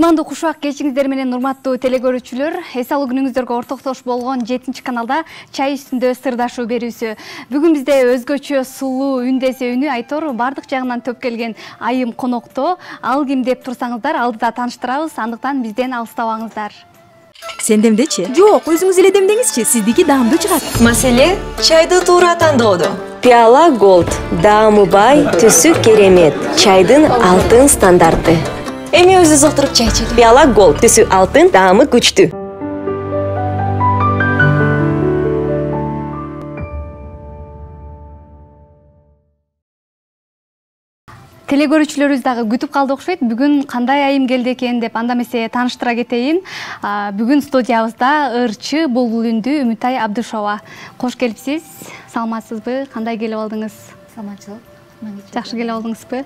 Куммандуу кушак кечиңиздер менен урматтуу телекөрүүчүлөр, эс алуу күнүңүздөргө ортоктош болгон 7 каналда чай үстүндө сырдашуу берүүсү. Бүгүн бизде өзгөчө сулуу үндесе үнү айтор бардык жагынан төп келген айым конокто. Ал ким деп турсаңыздар, алдыда тааныштырабыз, андыктан бизден алыстабаңыздар. Сен демдечи? Жок, өзүңүз эле демдеңизчи, сиздики даамдуу чыгат. Маселе чайды туура тандоодо. Пиала Gold даамы бай, түсү керемет. Чайдын алтын стандарты. Эми өзүбүз отуруп чай ичели. Пиала Gold түсү алтын, даамы күчтүү. Телекөрүүчүлөрүбүз дагы күтүп калды окшойт. Бүгүн кандай айым келди экен деп анда эмесе тааныштыра кетейин. Бүгүн студиябызда ырчы булбул үндүү Үмүтай Абдышова. Кош келипсиз. Саламатсызбы? Кандай келип алдыңыз? Саламатчылык. Жакшы келип алдыңызбы?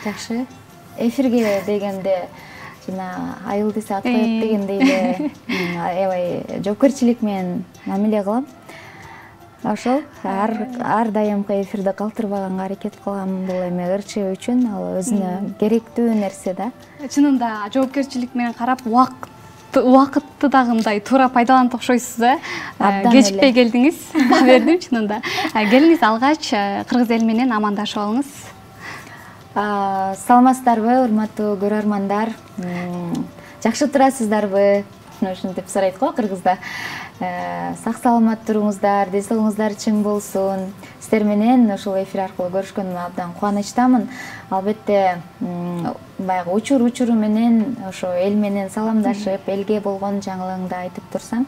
Жакшы. Эфирге дегенде жана айыл десе ат коет дегендей эле аябай жоопкерчилик менен мамиле кылам. Ошол ар дайымкы эфирде калтырбаганга аракет кылам. Бул эми ырчы үчүн ал өзүнө керектүү нерсе да. Чынында жоопкерчилик менен карап, убакытты дагы мындай туура пайдаланып окшойсуз да. Кечикпей келдиңиз. Баа бердим чынында. Келиңиз алгач кыргыз эли менен амандашып алыңыз. Саламатсыздарбы, урматтуу көрөрмандар? Жакшы турасыздарбы? Ушинтип сурайт го кыргызда. Сак саламат туруңуздар, ден соолугуңуздар чың болсун. Сиздер менен ушул эфир аркылуу көрүшкөнүмө абдан кубанычтамын. Албетте, баягы учуру менен ошо эл менен саламдашып, элге болгон жаңылыгыңды айтып турсаң,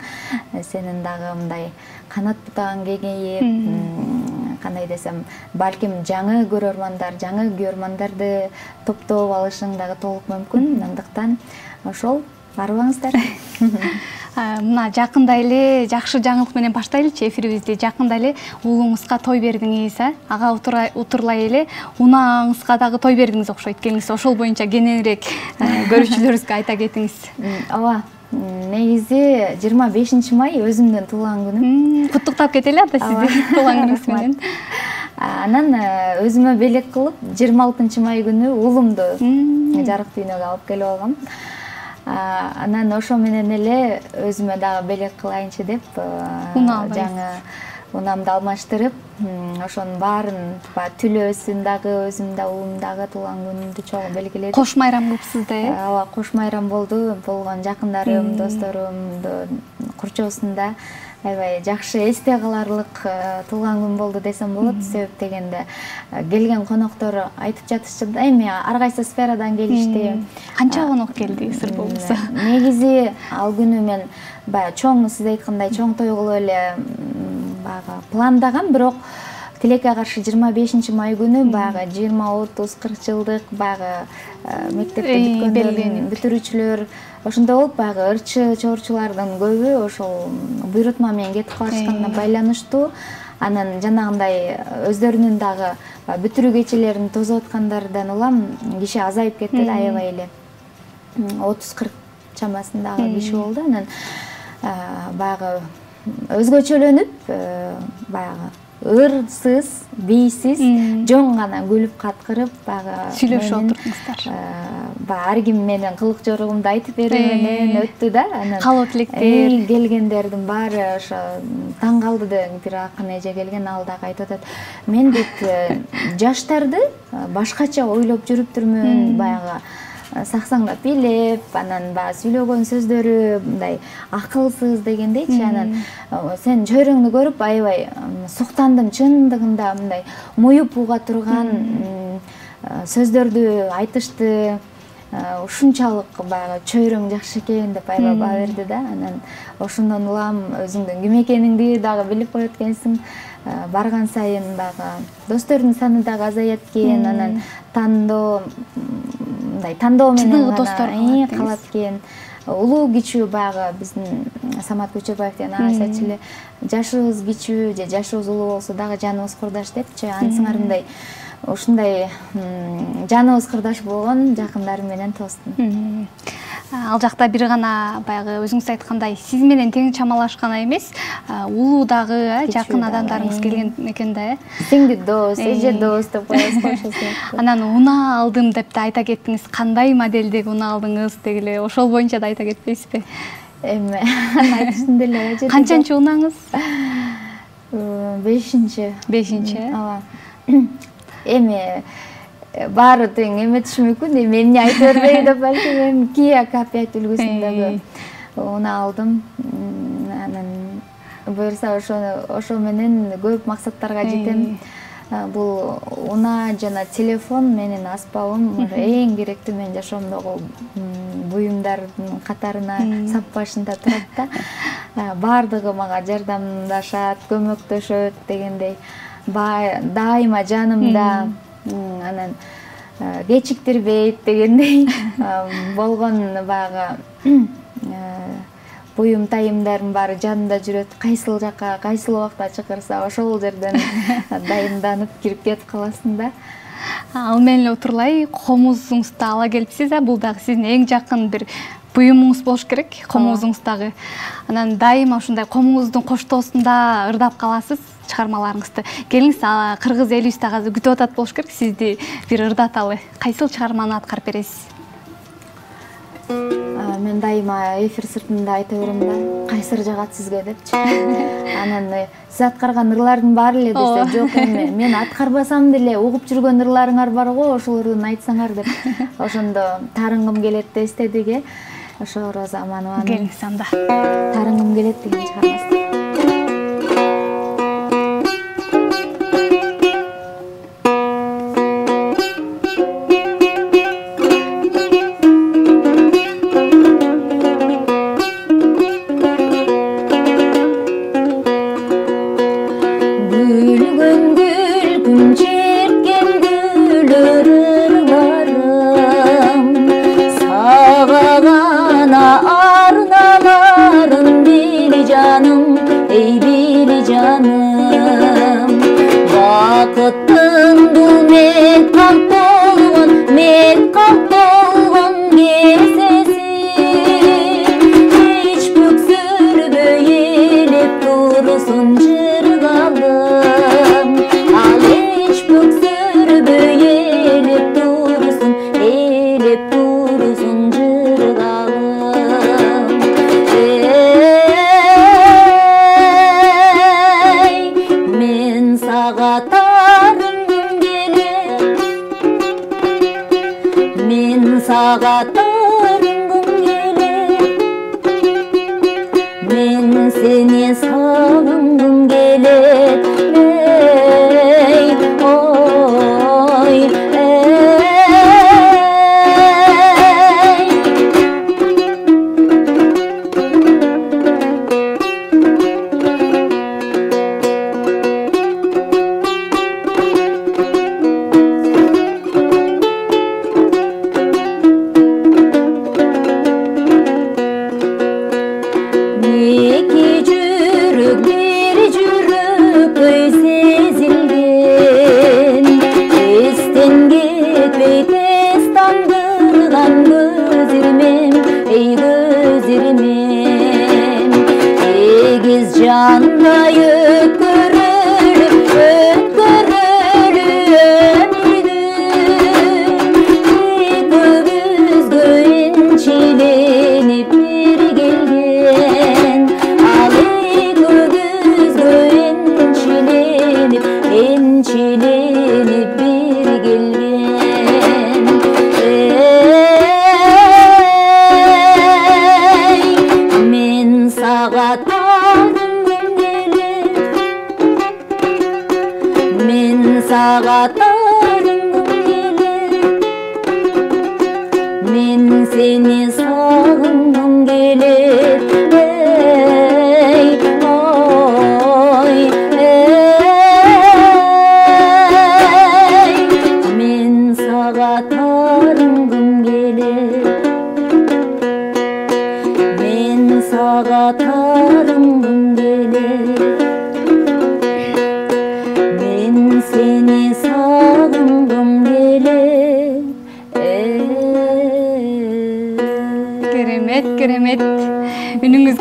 сенин дагы мындай канат бутаң кеңейип, кандай десем, балким жаңы көрөрмандар, жаңы күйөрмандарды топтоп алышың дагы толук мүмкүн. Андыктан ошол барбаңыздар. Мына жакында эле жакшы жаңылык менен баштайлычы эфирибизди. Жакында эле уулуңузга той бердиңиз, ага утурлай эле унааңызга дагы той бердиңиз окшойт. Келиңиз ошол боюнча кененирээк көрүүчүлөрүбүзгө айта кетиңиз. Ооба. Негизи 25 май өзүмдүн туулган күнүм. Куттуктап кетели ата сизди туулган күнүңүз менен. Анан өзүмө белек кылып 26 май күнү уулумду жарык дүйнөгө алып келип алгам. Анан ошо менен эле өзүмө дагы белек кылайынчы деп жаңы унамды алмаштырып, ошонун баарын түлөөсүн дагы, өзүм да уулум дагы туулган күнүмдү чогуу белгиледим. Кош майрам кылыпсыз да, Ооба, кош майрам болду. Болгон жакындарым, досторумду курчоосунда аябай жакшы эсте каларлык туулган күн болду десем болот. Себеп дегенде келген коноктор айтып жатышчу да, эми ар кайсы сферадан келишти. Канча конок келди, сыр болбосо? Негизи ал күнү мен баягы чоң, сиз айткандай чоң той кылып эле баягы пландагам, бирок тилекке каршы 25 май күнү баягы 20, 30, 40 жылдык баягы мектепти бүткөндөрдүн бүтүрүүчүлөр ошондой болуп, баягы ырчы чорчулардын көбү ошол буйрутма менен кетип калышканына байланыштуу. Анан жанагындай өздөрүнүн дагы бүтүрүү кечелерин тосуп аткандардан улам киши азайып кетти да, аябай эле 30-40 чамасындагы киши болду. Анан баягы өзгөчөлөнүп, баягы ырсыз, бийсиз, жоң гана күлүп каткырып, баягы сүйлөшүп отурдуңуздар. Ар ким менен кылык жоругумду айтып берүү менен өттү да. Анан калоо тилектер келгендердин баары ошо таң калды да. Бир акын эже келген, ал дагы айтып атат. Мен дейт жаштарды башкача ойлоп жүрүптүрмүн, баягы саксаңдап бийлеп, анан баягы сүйлөгөн сөздөрү мындай акылсыз дегендейчи. Анан сен чөйрөңдү көрүп аябай суктандым, чындыгында мындай муюп уга турган сөздөрдү айтышты. Ушунчалык баягы чөйрөң жакшы экен деп аябай баа берди да. Анан ошондон улам өзүңдүн ким экениңди дагы билип коет экенсиң. Барган сайын дагы достордун саны дагы азаят экен. Анан тандоо менен гана калат экен. Улуу кичүү баягы биздин Самат Көчөрбаев деген агайыбыз айтчу эле, жашыбыз кичүү же жашыбыз улуу болсо дагы жаныбыз курдаш депчи. Ансыңар мындай ушундай жаныбыз кырдаш болгон жакындарым менен тостум. Ал жакта бир гана баягы өзүңүз айткандай сиз менен тең чамалашкан эмес, улуу дагы жакын адамдарыңыз келген экен да, Сиңди дос, эже дос деп коебуз го ошол сыяктуу. Анан унаа алдым деп да айта кеттиңиз. Кандай модельдеги унаа алдыңыз дегиле, ошол боюнча да айта кетпейсизби? Эми айтышын деле жетти. Канчанчы унааңыз? 5-чи. 5-чи. Ооба. Эми баары тең эметиши мүмкүн. Эми эмне айтып бербей деп балки мен Kia K5 үлгүсүндөгү унаа алдым. Анан буюрса ошо менен көп максаттарга жетем. Бул унаа жана телефон менин аспабым эң керектүү менин жашоомдогу буюмдардын катарына сап башында турат да. Баардыгы мага жардамдашат, көмөктөшөт дегендей. Дайыма жанымда. Анан кечиктирбейт дегендей болгон баягы буюм тайымдардын баары жанында жүрөт. Кайсыл жакка, кайсыл убакта чакырса ошол жерден дайымданып кирип кетип каласың да. Ал менен отурлай комузуңузду ала келипсиз, бул дагы сиздин эң жакын бир буюмуңуз болуш керек, комузуңуз дагы. Анан дайыма ушундай комуңуздун коштоосунда ырдап каласыз чыгармаларыңызды. Келиңиз, кыргыз элибиз дагы азыр күтүп атат болуш керек сизди бир ырдаталы. Кайсыл чыгарманы аткарып бересиз? Мен дайыма эфир сыртында айта берем да, кайсыр жагат сизге депчи. Анан сиз аткарган ырлардын баары эле десе, жок эми мен аткарбасам деле угуп жүргөн ырларыңар бар го, ошолордун айтсаңар деп. Ошондо тарынгым келет да эстедиге. Ошо Роза Аманованын Келиңиз анда. Тарынгым келет деген чыгармасы.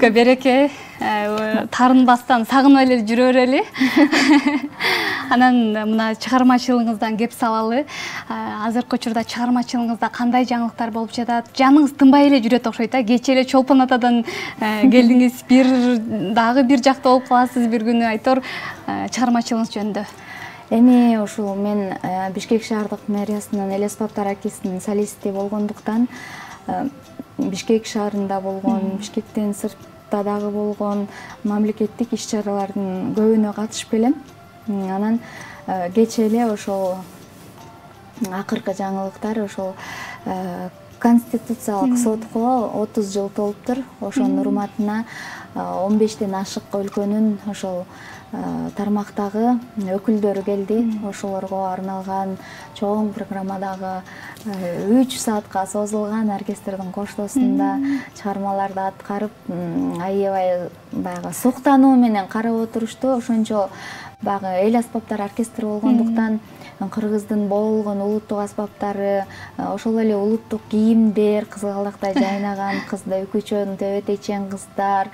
биздикке береке, тарынбастан сагынып эле жүрө берели. Анан мына чыгармачылыгыңыздан кеп салалы. Азыркы учурда чыгармачылыгыңызда кандай жаңылыктар болуп жатат? Жаныңыз тынбай эле жүрөт окшойт. Кечээ эле Чолпон атадан келдиңиз, дагы бир жакта болуп каласыз бир күнү айтор чыгармачылыгыңыз жөнүндө. Эми ушул мен Бишкек шаардык мэриясынын Эле аспаптар оркестринин солисти болгондуктан Бишкек шаарында болгон, Бишкектен сыртта дагы болгон мамлекеттик иш-чаралардын көбүнө катышып келем. Анан кечээ эле ошол акыркы жаңылыктар ошол Конституциялык сотко 30 жыл толуптур. Ошонун урматына 15ден ашык өлкөнүн ошол тармактагы өкүлдөрү келди. Ошолорго арналган чоң программадагы 3 саатка созулган оркестрдин коштоосунда чыгармаларды аткарып, аябай баягы суктануу менен карап отурушту. Ошончо баягы эл аспаптар оркестри болгондуктан кыргыздын болгон улуттук аспаптары, ошол эле улуттук кийимдер, кызгалдактай жайнаган кыздар, үкүчөн, төбөтечен кыздар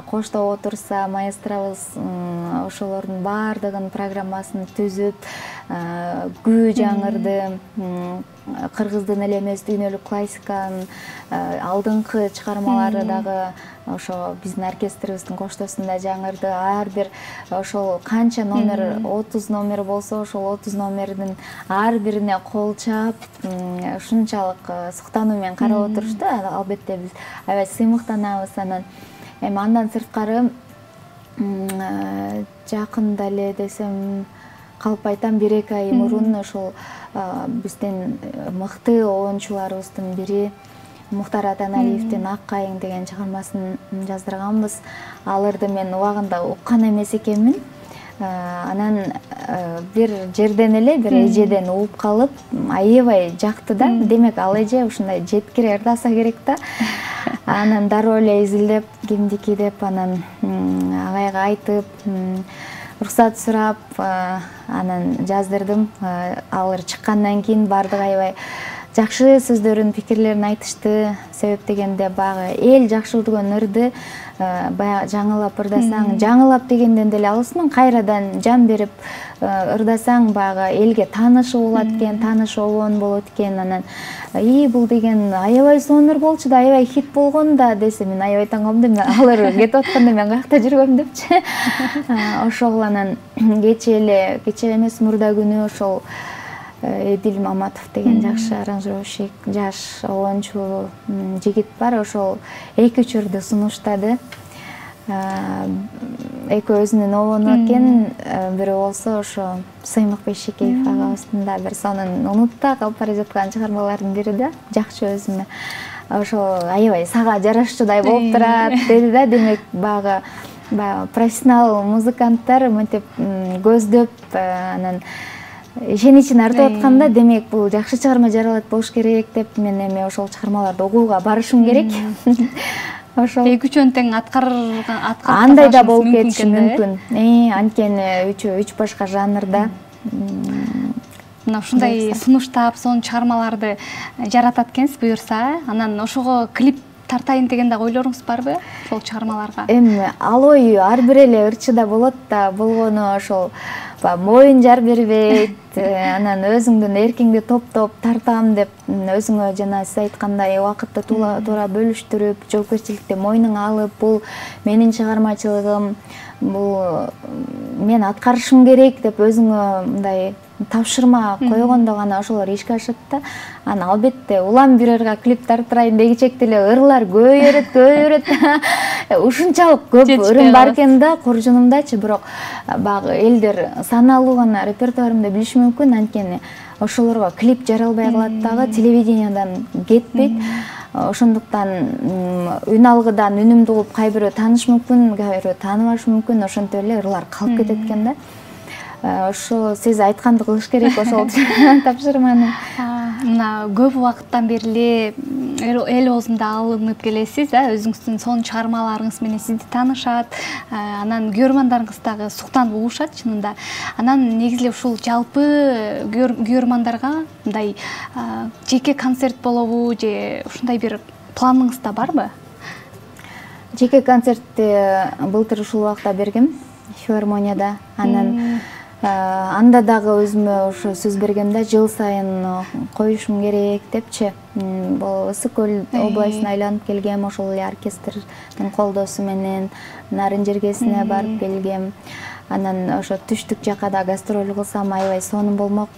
коштоп отурса, маэстробуз ошолордун баардыгын программасын түзүп, күү жаңырды, кыргыздын эле эмес дүйнөлүк классиканын алдыңкы чыгармалары дагы ошо биздин оркестрибиздин коштоосунда жаңырды. Ар бир ошол канча номер, 30 номер болсо, ошол 30 номердин ар бирине кол чаап, ушунчалык суктануу менен карап отурушту. Албетте биз аябай сыймыктанабыз. Анан эми андан сырткары жакында эле десем калп айтам, 1-2 ай мурун ошол биздин мыкты оюнчуларыбыздын бири Мухтар Атаналиевдин Ак кайың деген чыгармасын жаздырганбыз. Аларды мен убагында уккан эмес экенмин. Анан бир жерден эле бир эжеден угуп калып, аябай жакты да. Демек ал эже ушундай жеткире ырдаса керек да. Анан дароо эле изилдеп, кимдики деп, анан агайга айтып, уруксат сурап, анан жаздырдым. Алар чыккандан кийин бардыгы аябай жакшы сөздөрүн, пикирлерин айтышты. Себеп дегенде баягы эл жакшы көргөн ырды баягы жаңылап ырдасаң, жаңылап дегенден деле алысмын, кайрадан жан берип ырдасаң баягы элге тааныш болот экен, тааныш обон болот экен. Анан бул деген аябай сонур болчу да, аябай хит болгон да десе, мен аябай таң калдым. Алар кетип атканда мен каякта жүргөм депчи. Ошол анан кечээ эмес мурда күнү ошол Эдил Маматов деген жакшы аранжировщик, жаш оюнчу жигит бар. Ошол 2-3 ырды сунуштады. Экөө өзүнүн обону экен. Бири болсо ошо Сыймык Бейшекеев агабыздын да бир сонун унутта калып бара жаткан чыгармалардын бири да. Жакшы өзүмө. Ошо аябай сага жарашчудай болуп турат деди да. Демек баягы профессионал музыканттар мынтип көздөп, анан ишеничин артып атканда, демек бул жакшы чыгарма жаралат болуш керек деп, мен эми ошол чыгармаларды окууга барышым керек. Ошол 2-3 тең андай да болуп кетиши мүмкүн. Анткени 3 башка жанрда. Мына ушундай сунуштап, сонун чыгармаларды жаратат экенсиз буюрса, анан ошого клип тартайын деген да ойлоруңуз барбы ошол чыгармаларга? Эми ал ой ар бир эле ырчыда болот да, болгону ошол моюн жар бербейт, анан өзүңдүн эркиңди топтоп тартам деп өзүңө жана сиз айткандай убакытты туура бөлүштүрүп, жоопкерчиликти мойнуңа алып, бул менин чыгармачылыгым, бул мен аткарышым керек деп өзүңө мындай тапшырма койгондо гана ошолор ишке ашат да. Анан албетте улам бир ырга клип тарттырайын дегичекти эле ырлар көбөйөрөт. Ушунчалык көп ырым бар экен да коржунумдачы, бирок баягы элдер саналуу гана репертуарымды билиши мүмкүн, анткени ошолорго клип жаралбай калат дагы, телевидениядан кетпейт. Ошондуктан үн алгыдан үнүмдү угуп кайбирөө тааныш мүмкүн, кайбирөө тааныбашы мүмкүн, ошентип эле ырлар калып кетет экен да. Ошо сиз айтканды кылыш керек ошол тапшырманы. Мына көп убакыттан бери эл оозунда алынып келесиз, өзүңүздүн сонун чыгармаларыңыз менен сизди таанышат, анан көрөрмандарыңыз дагы суктанып угушат чынында. Анан негизи эле ушул жалпы көрөрмандарга мындай жеке концерт болобу же ушундай бир планыңызда барбы? жеке концертти былтыр ушул убакта бергем филармонияда. Анан анда дагы өзүмө ошо сөз бергем да, жыл сайын коюшум керек депчи. Бул Ысык Көл областына айланып келгем, ошол эле оркестрдин колдоосу менен Нарын жергесине барып келгем. Анан ошо түштүк жакка да гастроль кылсам аябай сонун болмок.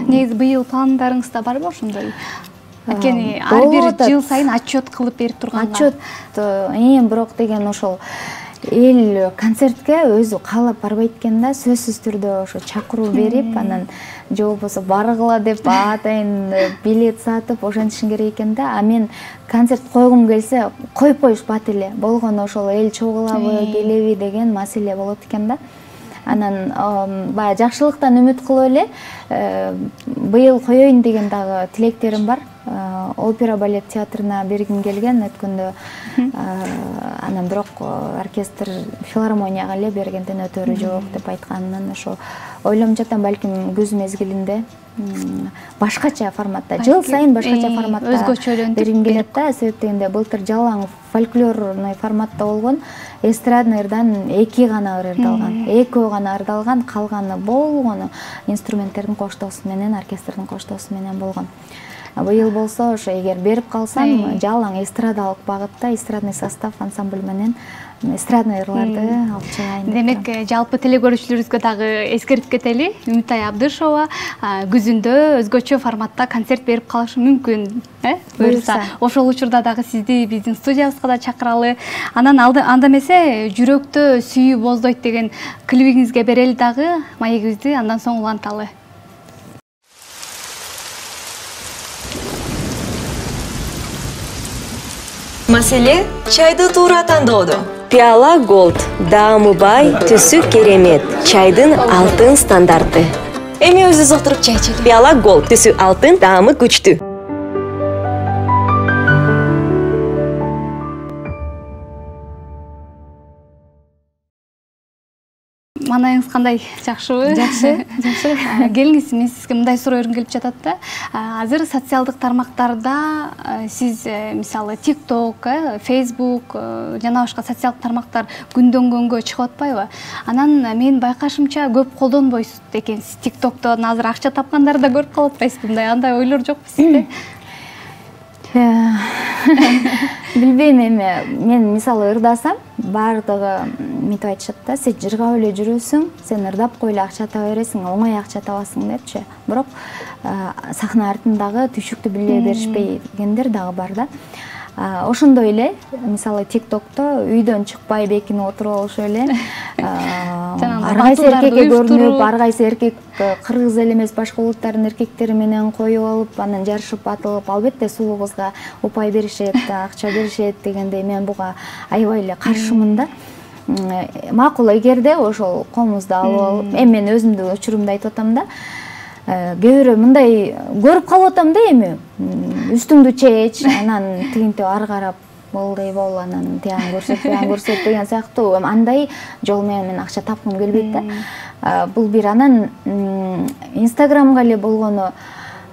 Негизи быйыл пландарыңызда барбы ошондой? Анткени ар бир жыл сайын отчет кылып берип турганга. Отчет бирок деген ошол эл концертке өзү каалап барбайт экен да, сөзсүз түрдө ошо чакыруу берип, анан же болбосо баргыла деп атайын билет сатып ошентишин керек экен да. А мен концерт койгум келсе коюп коюшпат эле. Болгону ошол эл чогулабы, келеби деген маселе болот экен да. Анан баягы жакшылыктан үмүт кылып эле быйыл коеюн деген дагы тилектерим бар. Опера балет театрына бергим келген өткөндө. Анан бирок оркестр филармонияга эле бергенден өтөрү жок деп айтканынан ошо ойлонуп жатам, балким күз мезгилинде башкача форматта, жыл сайын башкача форматта өзгөчөлөнтүп бергим келет да. Себеп дегенде былтыр жалаң фольклорный форматта болгон, эстрадный ырдан 2 гана ырдалган. 2 гана ырдалган, калганы болгону инструменттердин коштоосу менен, оркестрдин коштоосу менен болгон. Быйыл болсо ошо эгер берип калсам, жалаң эстрадалык багытта эстрадный состав ансамбль менен эстрадный ырларды алып чыгайын. Демек, жалпы телекөрүүчүлөрүбүзгө дагы эскертип кетели. Үмүтай Абдышева күзүндө өзгөчө форматта концерт берип калышы мүмкүн, буюрса. Ошол учурда дагы сизди биздин студиябызга да чакыралы. Анан анда эмесе жүрөктө сүйүү боздойт деген клибиңизге берели дагы маегибизди, андан соң уланталы. Маселе чайды туура тандоодо. Пиала Голд даамы бай, түсү керемет. Чайдын алтын стандарты. Эми өзүбүз отуруп чай ичели. Пиала Голд түсү алтын, даамы күчтүү. Манайыңыз кандай, жакшыбы? Жакшы. Келиңиз, мен сизге мындай суроо өргүм келип жатат да. Азыр социалдык тармактарда сиз мисалы TikTok, Facebook жана башка социалдык тармактар күндөн күнгө чыгып атпайбы? Анан мен байкашымча көп колдонбойсуз экенсиз. TikToктон азыр акча тапкандарды да көрүп калып атпайсызбы? Андай ойлор жокпу сизде? Билбейм эми, мен мисалы ырдасам, бардыгы мынтип айтышат да, сен жыргап эле жүрөсүң, сен ырдап койло акча таба бересиң, оңой акча табасың депчи. Бирок сахна артындагы түйшүктү биле беришпегендер дагы бар да. Ошондой эле, мисалы TikTokто үйдөн чыкпай бекинип отуруп алышы эле. Ар кайсы эркекке көрүнүп, ар кайсы эркек кыргыз эле эмес, башка улуттардын эркектери менен коюп алып, анан жарышып атылып, албетте сулуу кызга упай беришет, акча беришет дегенде мен буга аябай эле каршымын да. Макул, эгерде ошол комузду алып алып, эми мен өзүмдүн учурумду айтып атам да. Кээ бирөө мындай көрүп калып атам да, эми үстүңдү чеч, анан тигинтип ары карап болдой бол, анан тиян көрсөт деген сыяктуу андай жол менен мен акча тапкым келбейт да. Бул бир, анан Инстаграмга эле болгону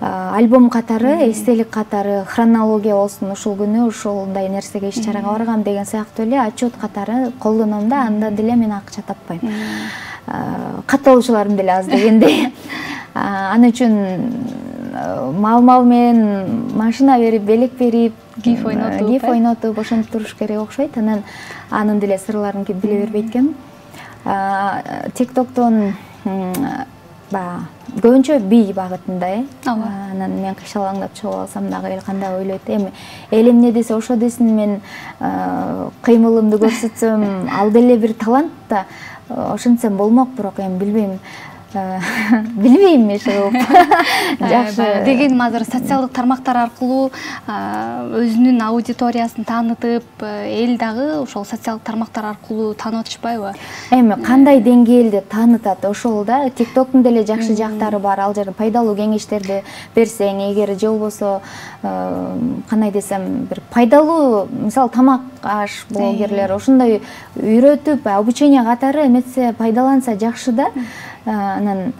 альбом катары, эстелик катары, хронология болсун, ушул күнү ушундай нерсеге иш чарага баргам деген сыяктуу эле отчет катары колдоном да, анда деле мен акча таппайм. Катталуучуларым деле аз дегендей. Аны үчүн мал менен машина берип, белек берип, гиф ойнотуп ошентип туруш керек окшойт. Анан анын деле сырларын биле бербейт экенмин. TikToктон көбүнчө бий багытында, анан мен кыйшалаңдап чыгып алсам дагы эл кандай ойлойт. Эми эл эмне десе ошо десин, мен кыймылымды көрсөтсөм, ал деле бир талант да, ошентсем болмок, бирок эми билбейм. Билбейм иши. Жакшы. Деген азыр социалдык тармактар аркылуу өзүнүн аудиториясын таанытып, эл дагы ошол социалдык тармактар аркылуу таанып атышпайбы? Эми кандай деңгээлде таанытат ошол да. TikToктун деле жакшы жактары бар. Ал жерде пайдалуу кеңештерди берсең, эгер же болбосо кандай десем, бир пайдалуу, мисалы тамак аш блогерлер ошондой үйрөтүп, обучение катары эметсе, пайдаланса жакшы да. Анан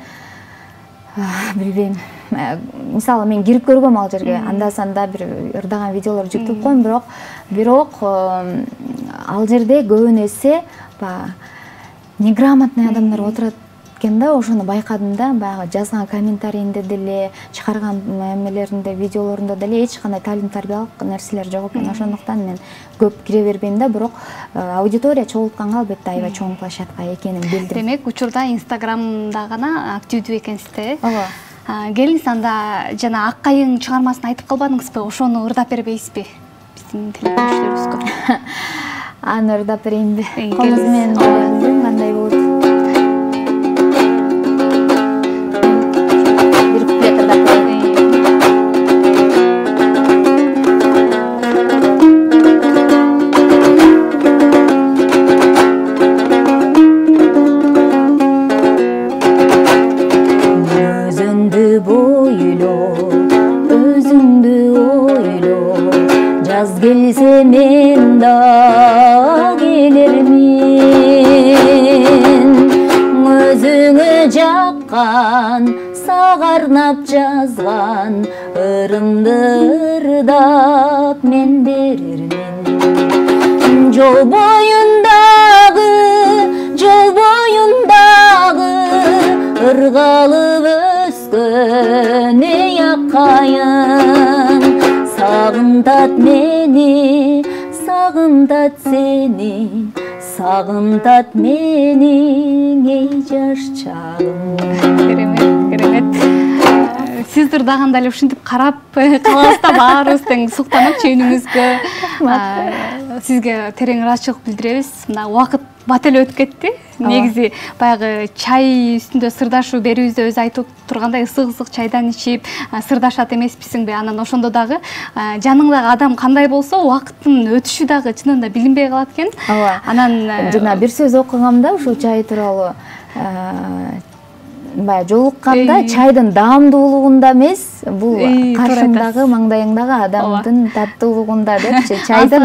билбейм. Мисалы мен кирип көргөм ал жерге, анда-санда бир ырдаган видеолор жүктөп коем, бирок ал жерде көбүн эсе баягы неграмотный адамдар отурат экен да, ошону байкадым да. Баягы жазган комментарийинде деле, чыгарган эмелеринде, видеолорунда деле эч кандай таалим тарбиялык нерселер жок экен. Ошондуктан мен көп кире бербейм да, бирок аудитория чогултканга албетте аябай чоң площадка экенин билдим. Демек, учурда Инстаграмда гана активдүү экенсиз да? Ооба. Келиңиз, анда жана Ак кайың чыгармасын айтып калбадыңызбы? Ошону ырдап бербейсизби биздин телегөрүүчүлөрүбүзгө? Аны ырдап берейинби? Комуз менен кандай болот? Бир куплет ырдап берейин. Өзүңдү бойло, өзүңдү ойло, жаз келсе мен да келермин. Өзүңө жаккан, сагарнап жазган ырымды ырдап мен берермин. Жол боюндагы ыргалып өскөн эй ак кайың, сагынтат мени, сагынтат сени, сагынтат менин эй жаш чагым. Керемет. Сиз ырдаганда эле ушинтип карап калабыз да, баарыбыз тең суктанып чөйнүңүзгө. Сизге терең ыраазычылык билдиребиз. Мына убакыт бат эле өтүп кетти. Негизи баягы чай үстүндө сырдашуу берүүбүздө өзү айтып тургандай ысык чайдан ичип сырдашат эмеспизиңби? Анан ошондо дагы жаныңдагы адам кандай болсо, убакыттын өтүшү дагы чынында билинбей калат экен. Ооба. Анан жана бир сөз окугам да ушул чай тууралуу. Баягы жолукканда чайдын даамдуулугунда эмес, бул каршыңдагы, маңдайыңдагы адамдын таттуулугунда депчи, чайдын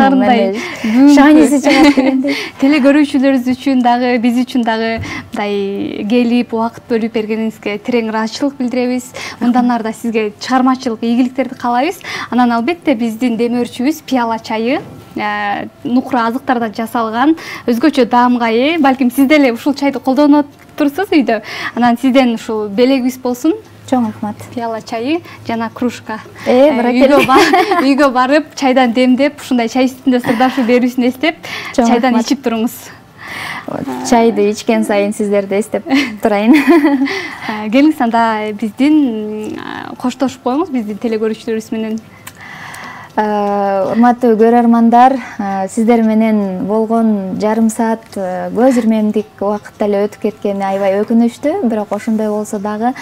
шааниси чыгат дегендей. Теле көрүүчүлөрүбүз үчүн дагы, биз үчүн дагы мындай келип убакыт бөлүп бергениңизге терең ыраазычылык билдиребиз. Мындан ары да сизге чыгармачылык ийгиликтерди каалайбыз. Анан албетте биздин демөөрчүбүз пиала чайы нукура азыктардан жасалган өзгөчө даамга ээ. Балким сиз деле ушул чайды колдонуп турсуз үйдө. Анан сизден ушул белегибиз болсун. Чоң рахмат. Пиала чайы жана кружка. Үйгө барып, чайдан демдеп, ушундай чай үстүндө сырдашуу берүүсүн эстеп, чайдан ичип туруңуз. Чайды ичкен сайын сиздерди эстеп турайын. Келиңиз, анда биздин коштошуп коюңуз биздин теле көрүүчүлөрүбүз менен. Урматтуу көрөрмандар, сиздер менен болгон жарым саат көз ирмемдик убакыт эле өтүп кеткени аябай өкүнүчтүү, бирок ошондой болсо дагы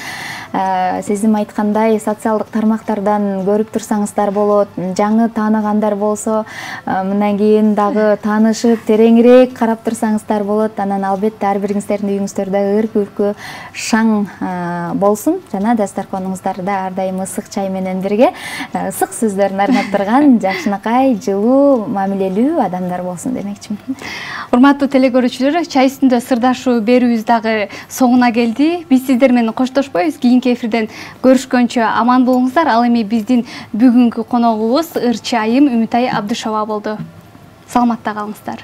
сизим айткандай социалдык тармактардан көрүп турсаңыздар болот. Жаңы тааныгандар болсо, мындан кийин дагы таанышып, тереңирээк карап турсаңыздар болот. Анан албетте ар бириңиздердин үйүңүздөрдө ыр-күлкү шаң болсун. Жана дастарконуңуздарда ар дайым ысык чай менен бирге ысык сөздөрдүн арнап турган жакшынакай, жылуу, мамилелүү адамдар болсун демекчимин. Урматтуу теле көрүүчүлөр, чай үстүндө сырдашуу берүүбүз дагы соңуна келди. Биз сиздер менен коштошпойбуз. Кийинки эфирден көрүшкөнчө аман болуңуздар. Ал эми биздин бүгүнкү коногубуз ырчы айым Үмүтай Абдышова болду. Саламатта калыңыздар.